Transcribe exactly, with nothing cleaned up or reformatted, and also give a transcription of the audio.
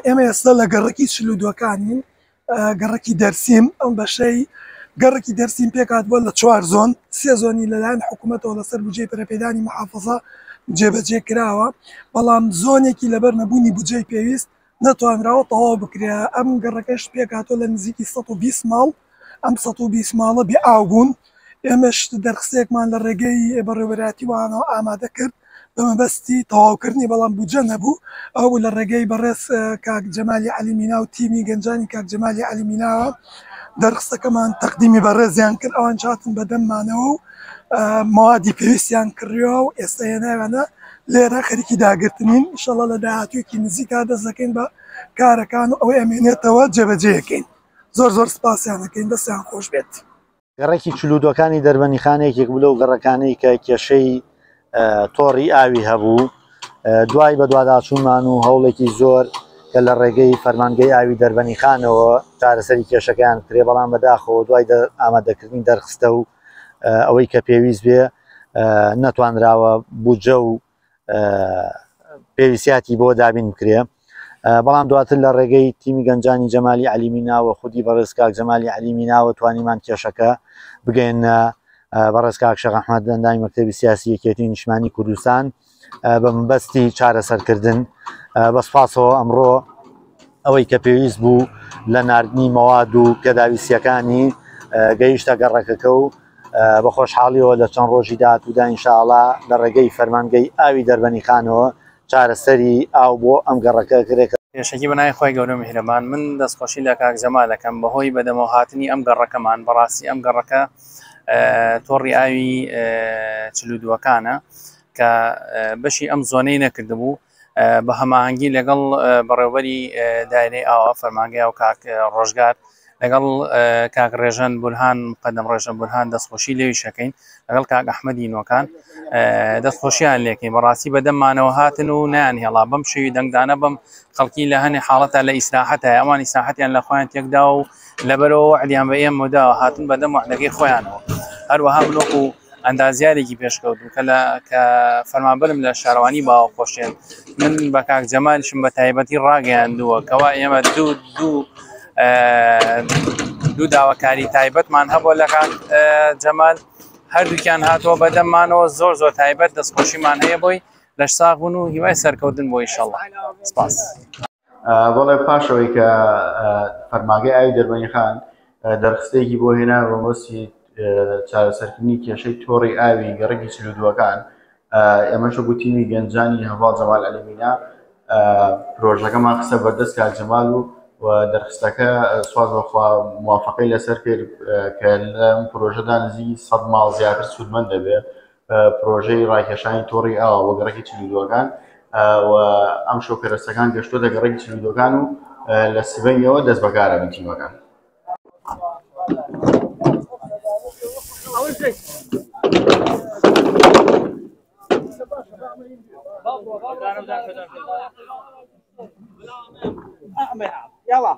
ئێمە ئێستا لە گەڕەکی چل و دووەکانین، گەڕەکی دەرسیم. ئەم بەشەی گەڕەکی دەرسیم پێکات بووە لە چوار زۆن، سێ زۆنی لەلایەن حکوومەتەوە لەسەر بودجەی پەرەپێدانی محافظە جێبەجێ کراوە، بەڵام زۆنێکی لەبەر نەبوونی بودجەی پێویست نەتوانراوە تەواو بکرێ. ئەم گەڕەکەش پێکاتەوە لە نزیکی سەد و بیست ماڵ. ئەم سەد و بیست ماڵە بێ ئاو بوون. ئێمەش دەرخستێکمان لە ڕێگەی بەڕێوەبەرایەتی وانەوە ئامادە کرد بە مەبەستی تەواوکردنی، بەڵام بودجە نەبوو. ئەو بوو لە ڕێگەی بەڕێز کاک جەمالی عەلی مینا و تیمی گەنجانی کاک جەمالی عەلی میناوە دەرخستەکەمان تەقدیمی بەڕێزیان کرد. ئەوان هاتن بەدەممانەوە و موادی پێویستیان کڕیەوە و ئێستا هێناویانە لێرە خەریکی داگرتنین. ئینشەڵڵا لە داهاتوویەکی نزیکا دەست دەکەین بە کارەکان و ئەوەی ئەمێنێتەوە جێبەجێیەکەین. زۆر زۆر سپاسیان دەکەین، دەستیان خۆش بێت. گەڕەکی چل و دووەکانی دەربەندیخان یەکێک بوو لەو گەڕەکانەی کە کێشەی تۆڕی ئاوی هەبوو. دوای بەدواداچوونمان و هەوڵێکی زۆر کە لە ڕێگەی فەرمانگەی ئاوی دەربەندیخانەوە چارەسەری کێشەکەیان کرێ، بەڵام بەداخەوە دوای ئامادەکردنی دەرخستە و ئەوەی کە پێویست بێ نەتوانراوە بودجە و پێویستیاتی بۆ دابین بکرێ. بەڵام دواتر لە ڕێگەی تیمی گەنجانی جەمالی عەلی میناوە خودی بەڕێز کاک جەمالی عەلی میناوە توانیمان کێشەکە بگەینە بەڕێز کاک شێخ ئەحمەد ئەندامی مەکتەبی سیاسی یەکێتی نیشتمانی کوردستان بە مەبەستی چارەسەرکردن. بە سوپاسەوە ئەمڕۆ ئەوەی کە پێویست بوو لە ناردنی مەواد و پێداویستیەکانی گەیشتە گەڕەکەکە و بە خۆشحاڵیەوە لە چەند ڕۆژی داهاتوودا ئینشاءڵا لە ڕێگەی فەرمانگەی ئاوی دەربەندیخانەوە چارەسەری ئاو بۆ ئەم گەڕەکە کرێت. پێشەکی بەناوی خۆی گەورە میهرەبان، من دەستخۆشی لە کاک جەمال ئەکەم بەهۆی بەدەمەوە هاتنی ئەم گەڕەکەمان. بەڕاستی ئەم گەڕەکە تۆڕی ئاوی چل و دووەکانە کە بەشی ئەم زۆنەی نەکردبوو، بە هەماهەنگی لەگەڵ بەڕێوبەری دایرەی ئاوە فەرمانگەی ئاو کاک ڕۆژگار لەگەڵ کاک ڕێژەن بورهان مقەدەم ڕێژەن بورهان دەستخۆشی لێوی شەکەین، لەگەڵ کاک ئەحمەدی نۆکان دەستخۆشیان لێکەین. بەڕاستی بەدەممانەوە هاتن و نایان هێڵا بەم شێوی دەنگدانە بەم خەڵکی لە هەنێ حاڵەتە لە ئیسراحەتە، ئەوان ئیسراحەتیان لە خۆیان تێکدا و لەبەرەوە وعدیان بە ئێمە داوە، هاتن بەدەم وعدەکەی خۆیانەوە. هەروەها من وەکو ئەندازیارێکی پێشکەوتوو کە لە کە فەرمانبەرم لە شارەوانی باوەخۆشێن، من بە کاک جەمالیشم بە تایبەتی ڕاگەیاندووە کەوا ئێمە دوو دوو دوو داواکاری تایبەتمان هەبووە لە کاک جەمال، هەردووکیان هاتووە بەدەممانەوە. زۆر زۆر تایبەت دەستخۆشیمان هەیە بۆی، لەش ساغ بوون و هیوای سەرکەوتن بۆ ئینشەڵڵا. سپاس. بەڵێ، پاشەوەی کە فەرماگەی ئاوی دەربەندیخان دەرخستێکی بۆ هێنا بە مەبەستی چارەسەرکردنی کێشەی تۆڕی ئاوی گەڕەکی چل و دووەکان، ئێمەش وەکو تیمی گەنجانی هەڤاڵ جەمال عەلی مینا پرۆژەکەمان خستە بەردەست کاک جەمال و و دەرخستەکە سواز بەخوا موافقەی لەسەر کرد کە لەم پرۆژەدا نزیکی سەد ماڵ زیاتر سوودمەند دەبێت. پرۆژەی ڕاکێشانی تۆڕی ئاوە بۆ گەڕەکی چل و دووەکان و ئەم شۆکەرەسەکان گەشتۆتە گەڕەکی چل و دووەکان و لە سبەینەوە دەست بەکارە بن تیمەکان. يلا.